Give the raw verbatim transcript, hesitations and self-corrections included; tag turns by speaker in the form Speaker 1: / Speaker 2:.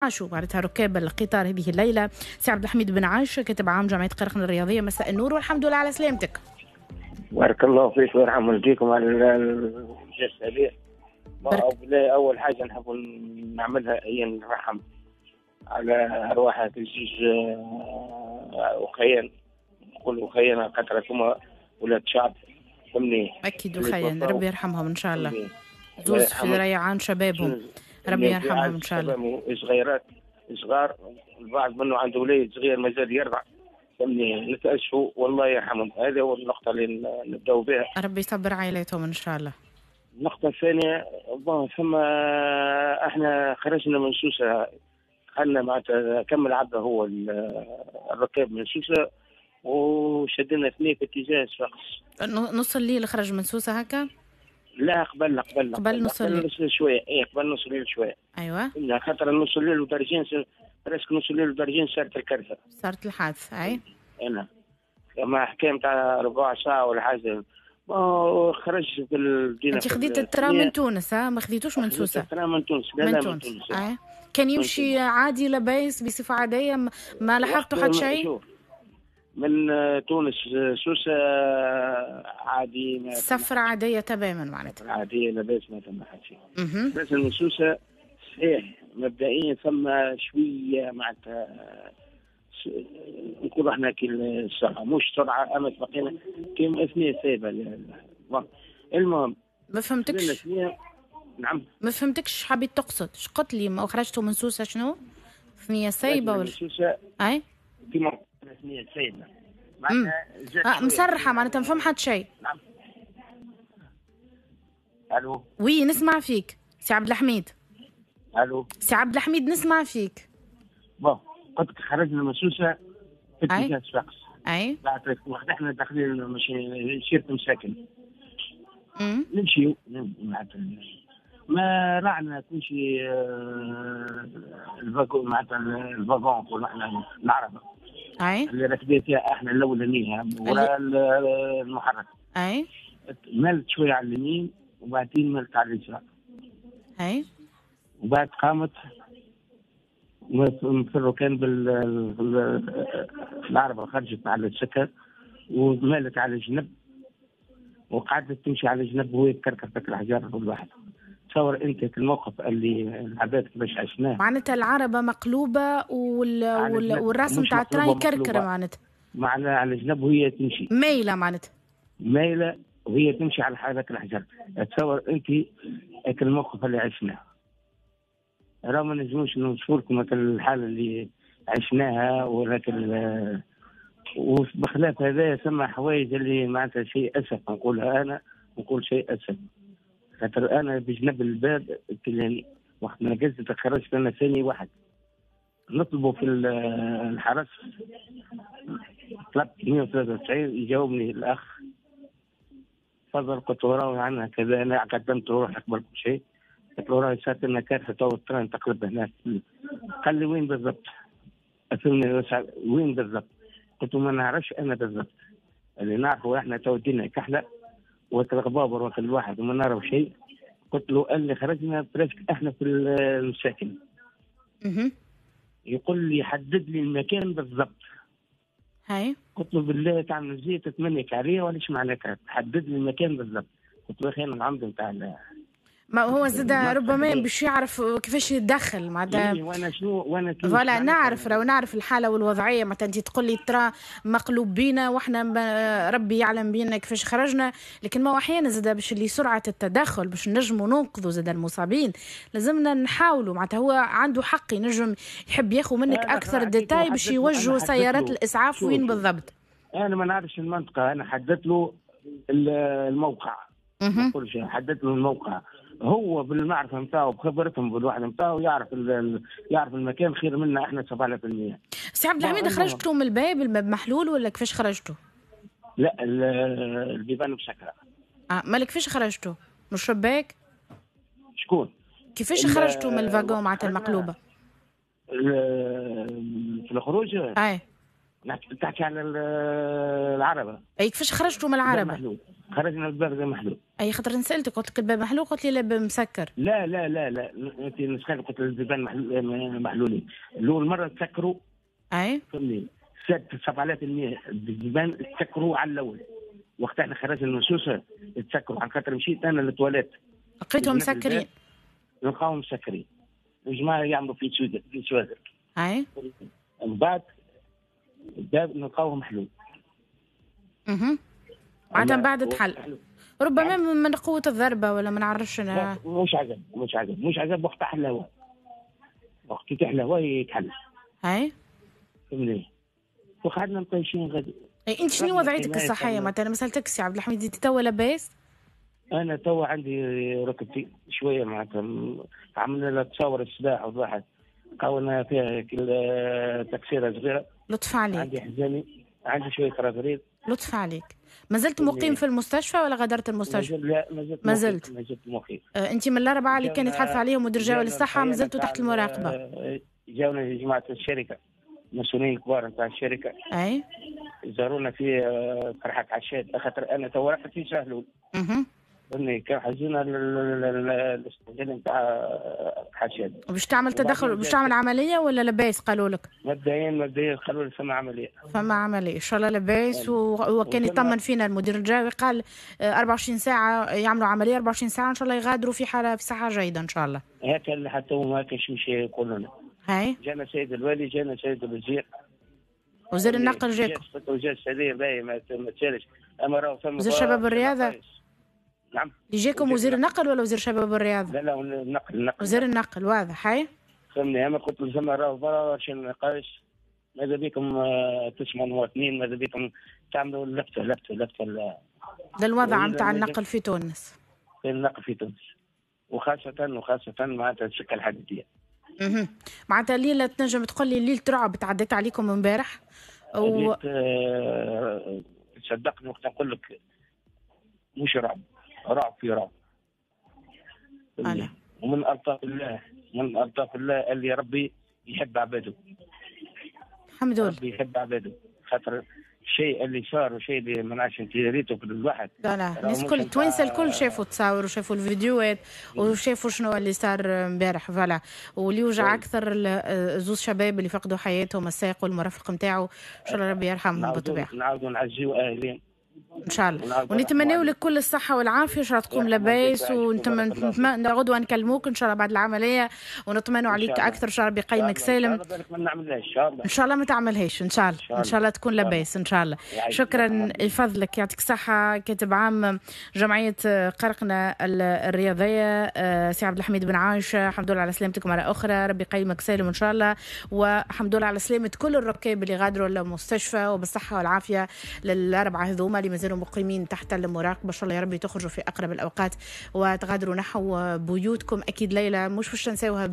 Speaker 1: عاشوا معناتها ركاب القطار هذه الليلة. سي عبد الحميد بن عايشه، كاتب عام جمعية قرقنة الرياضيه، مساء النور والحمد لله على سلامتك.
Speaker 2: بارك الله فيك ويرحم والديكم على الجلسة هذه. اول حاجة نحب نعملها هي نرحم على ارواح الجيش وخيان، نقول وخيان خاطر هما ولاد شعب، فهمني؟
Speaker 1: اكيد وخيان، ربي يرحمهم ان شاء الله، زوز في ريعان شبابهم، ربي يرحمهم ان شاء الله.
Speaker 2: صغيرات صغار، البعض منه عنده وليد صغير مازال يرضع، فهمني؟ نتأسفوا والله يرحمهم. هذا هو النقطة اللي نبداو بها.
Speaker 1: ربي يصبر عائلاتهم ان شاء الله.
Speaker 2: النقطة الثانية، bon ثم احنا خرجنا من سوسة، دخلنا معناتها كمل عبده هو الركاب من سوسة وشدنا اثنين في اتجاه صفاقس.
Speaker 1: نص الليل خرج من سوسة هكا؟
Speaker 2: لا، قبل قبل
Speaker 1: قبل نص الليل
Speaker 2: شوية، اي قبل نص الليل شوية.
Speaker 1: ايوه،
Speaker 2: خاطر نص الليل ودرجين، presque نص الليل ودرجين صارت الكارثة.
Speaker 1: صارت الحادثة، اي.
Speaker 2: انا ما حكاية نتاع ربع ساعة ولا حاجة. خرج في المدينة.
Speaker 1: انت خذيت ال train من تونس؟ ها ما خذيتوش من سوسة؟
Speaker 2: ال train من تونس، لا
Speaker 1: من
Speaker 2: لا
Speaker 1: تونس.
Speaker 2: من تونس.
Speaker 1: آه. كان يمشي عادي لاباس بصفة عادية، ما لاحظتوا حتى شيء؟
Speaker 2: من تونس سوسة عادي،
Speaker 1: سفرة عادية تماما معناتها.
Speaker 2: عادية لاباس، ما ثم حتى شيء. بس من سوسة صحيح مبدئيا ثم شوية معناتها نقول احنا كي السرعة مش سرعة، اما بقينا كيما اثنين سايبة. المهم
Speaker 1: ما فهمتكش.
Speaker 2: نعم
Speaker 1: ما فهمتكش، حبيت تقصد اش قلت لي ما خرجتوا من سوسة شنو؟ ثنية سايبة ولا؟
Speaker 2: سوسة
Speaker 1: اي
Speaker 2: كيما ثنية سايبة
Speaker 1: معناتها مسرحة، معناتها ما فهم حتى شيء.
Speaker 2: نعم. الو
Speaker 1: oui نسمع فيك سي عبد الحميد.
Speaker 2: الو
Speaker 1: سي عبد الحميد نسمع فيك.
Speaker 2: bon قلت لك خرجنا من سوسة في اتجاه صفاقس.
Speaker 1: اي
Speaker 2: بعد وقت احنا داخلين شيرة مساكن نمشيو ما رعنا كل شيء ال wagon، معناتها ال wagon نقولوا احنا العربة
Speaker 1: اي
Speaker 2: اللي راكبين فيها احنا الاولانية ولا المحرك.
Speaker 1: اي
Speaker 2: مالت شوية على اليمين وبعدين مالت على اليسار.
Speaker 1: اي
Speaker 2: وبعد قامت نفروا كان بالعربة خرجت على السكر ومالت على الجنب وقعدت تمشي على الجنب وهي تكركر فيك الحجار والواحد. تصور انت الموقف اللي العباد كيفاش عشناه.
Speaker 1: معناتها العربة مقلوبة وال... وال... والراس نتاع ال train يكركر معناتها.
Speaker 2: معناها على الجنب وهي تمشي.
Speaker 1: مايلة معناتها.
Speaker 2: مايلة وهي تمشي على هذاك الحجر. تصور انت الموقف اللي عشناه. راه ما نجموش نوصفوا لكم الحالة اللي عشناها، ولكن وبخلاف هذا ثم حوايج اللي معناتها شيء اسف نقولها انا، نقول شيء اسف خاطر انا بجنب الباب وقت ما نقزت خرجت انا ثاني واحد نطلبوا في الحرس، طلبت مئة وثلاثة وتسعين يجاوبني الاخ تفضل، قلت له راهو عندنا كذا، انا قدمت روحي قبل كل شيء، قلت له راهي صارت لنا كارثة تو ال train تقلب هناك. قال لي وين بالضبط؟ أفهمني وين بالضبط؟ قلت له ما نعرفش انا بالضبط، اللي نعرفه احنا تو الدنيا كحلة وكل غبابر وكل الواحد وما نعرف شيء. قلت له قال لي خرجنا presque احنا في المساكن. يقول لي حدد لي المكان بالضبط.
Speaker 1: هاي
Speaker 2: قلت له بالله تعمل زيت تمنيك عليه ولا ايش معناتها تحدد لي المكان بالضبط؟ قلت له اخي انا العمد نتاع
Speaker 1: ما هو زاد ربما باش يعرف كيفاش يتدخل معناتها.
Speaker 2: إيه وانا شنو وانا
Speaker 1: voilà نعرف لو نعرف الحالة والوضعيه، معناتها انت تقول لي ترى مقلوب بينا واحنا ربي يعلم بينا كيفاش خرجنا، لكن ما هو احيانا زاد باش اللي سرعة التدخل باش نجموا ننقذوا زاد المصابين لازمنا نحاولوا، معناتها هو عنده حق ينجم يحب ياخذ منك اكثر détails باش يوجهوا سيارات الاسعاف وين بالضبط.
Speaker 2: انا ما نعرفش المنطقة، انا حددت له الموقع، ما نقولش حددت له الموقع، هو بالمعرفة نتاعو بخبرتهم بالواحد نتاعو يعرف يعرف المكان خير منا احنا سبعة بالمئة.
Speaker 1: سي عبد الحميد خرجتوا من الباب، الباب محلول ولا كيفاش خرجتوا؟
Speaker 2: لا البيبان مسكره.
Speaker 1: اه مالك كيفاش خرجتوا؟ من الشباك؟
Speaker 2: شكون؟
Speaker 1: كيفاش خرجتوا من ال wagon معناتها المقلوبة؟
Speaker 2: في الخروج؟
Speaker 1: اي
Speaker 2: تحكي على العربة.
Speaker 1: اي كيفاش خرجتوا من العربة؟
Speaker 2: محلول. خرجنا الباب زي محلول.
Speaker 1: اي خاطر نسالتك قلت لك الباب محلول، قلت لي لا الباب مسكر.
Speaker 2: لا لا لا لا انت نسخ قلت البيبان محلولين. الاول مرة تسكروا.
Speaker 1: اي
Speaker 2: فهمني سبعة آلاف المية البيبان تسكروا على الاول. وقت احنا خرجنا من سوسة تسكروا، على خاطر مشيت انا للتواليت
Speaker 1: لقيتهم مسكرين.
Speaker 2: نلقاهم مسكرين. الجماعة يعملوا في سواد في سوادر.
Speaker 1: اي
Speaker 2: من بعد الباب نلقاوه محلول.
Speaker 1: اها معناتها من بعد تحل. ربما من قوة الضربة ولا ما نعرفش انا.
Speaker 2: مش عجب مش عجب مش عجب وقت تحل الهواء. وقت يتحل الهواء يتحل.
Speaker 1: اي
Speaker 2: فهمني. وقعدنا مطيشين غادي.
Speaker 1: اي انت شنو وضعيتك الصحية معناتها؟ ما سالتكش سي عبد الحميد، انت توا لاباس؟
Speaker 2: انا توا عندي ركبتي شوية معناتها، عملنا لها تصاور الصباح وضحت قاولنا فيها تكسيره صغيرة.
Speaker 1: لطف عليك.
Speaker 2: عندي حزامي، عندي شوية رغريب.
Speaker 1: لطف عليك. ما زلت مقيم في المستشفى ولا غادرت المستشفى؟
Speaker 2: لا ما زلت
Speaker 1: ما زلت
Speaker 2: ما زلت مقيم.
Speaker 1: آه، انت من الاربعة اللي كان يتحدث عليهم مدير جهوي للصحة ما زلتوا تحت المراقبة؟
Speaker 2: جاونا جماعة الشركة، المسؤولين الكبار نتاع الشركة.
Speaker 1: اي
Speaker 2: زارونا في فرحه عشاد، خاطر انا تو رحت في شهلول.
Speaker 1: اها
Speaker 2: فهمني، كان حجزونا الاستعجال نتاع حشاد.
Speaker 1: باش تعمل تدخل، باش تعمل عملية ولا لاباس قالوا لك؟
Speaker 2: مبدئيا مبدئيا قالوا لي فما عملية.
Speaker 1: فما عملية، ان شاء الله لاباس. وكان يطمن فينا المدير الجاوي قال أربعة وعشرين ساعة يعملوا عملية، أربعة وعشرين ساعة ان شاء الله يغادروا في حاله في صحة جيدة ان شاء الله.
Speaker 2: هكا اللي حتى هما هكا مش يقولوا لنا.
Speaker 1: هاي
Speaker 2: جانا سيد الوالي، جانا سيد الوزير،
Speaker 1: وزير النقل جاكم.
Speaker 2: وزير السعودية باهي ما تسالش، اما راهو فما
Speaker 1: وزير شباب الرياضة.
Speaker 2: نعم
Speaker 1: اللي جاكم وزير النقل ولا وزير شباب الرياضة؟
Speaker 2: لا لا النقل النقل
Speaker 1: وزير النقل واضح. هاي
Speaker 2: فهمني. انا قلت لهم راهو برشا نقاش، ماذا بكم تسمعوا المواطنين، ماذا بكم تعملوا لفته لفته لفته
Speaker 1: للوضع نتاع النقل في تونس.
Speaker 2: في النقل في تونس وخاصة وخاصة معناتها السكة الحديدية.
Speaker 1: اها معناتها الليلة تنجم تقول لي ليلة رعب تعديت عليكم امبارح؟
Speaker 2: و... صدقني وقت نقول لك مش رعب، رعب في رعب. ومن ألطاف الله، من ألطاف الله اللي ربي يحب عباده.
Speaker 1: الحمد لله
Speaker 2: ربي يحب عباده، خاطر الشيء اللي صار وشيء اللي ما نعرفش انت ريته في الواحد.
Speaker 1: لا لا الناس الكل التوانسة الكل شافوا التصاور وشافوا الفيديوهات وشافوا شنو اللي صار امبارح. voilà، واللي وجع اكثر زوز شباب اللي فقدوا حياتهم، السائق والمرافق نتاعو، ان شاء الله ربي يرحمهم بالطبيعة.
Speaker 2: نعاودوا نعزيو اهلين
Speaker 1: ان شاء الله، ونتمناو لك كل الصحة والعافية، ان شاء الله تقوم لاباس، ونتمنى غدوه نكلموك ان شاء الله بعد العملية ونطمنوا عليك اكثر، ان شاء الله بقيمك سالم.
Speaker 2: ما نعملهاش ان شاء الله.
Speaker 1: ان شاء الله ما تعملهاش ان شاء الله، ان شاء الله تكون لاباس ان شاء الله. شكرا لفضلك، يعطيك الصحة. كاتب عام جمعية قرقنه الرياضية سي عبد الحميد بن عايشه، الحمد لله على سلامتك مرة اخرى، ربي يقيمك سالم ان شاء الله، والحمد لله على سلامه كل الركاب اللي غادروا المستشفى، وبالصحه والعافية للاربعه هذوما اللي مازالوا مقيمين تحت المراقبة. ان شاء الله يا ربي تخرجوا في اقرب الاوقات وتغادروا نحو بيوتكم. اكيد ليلة مش باش تنساوها.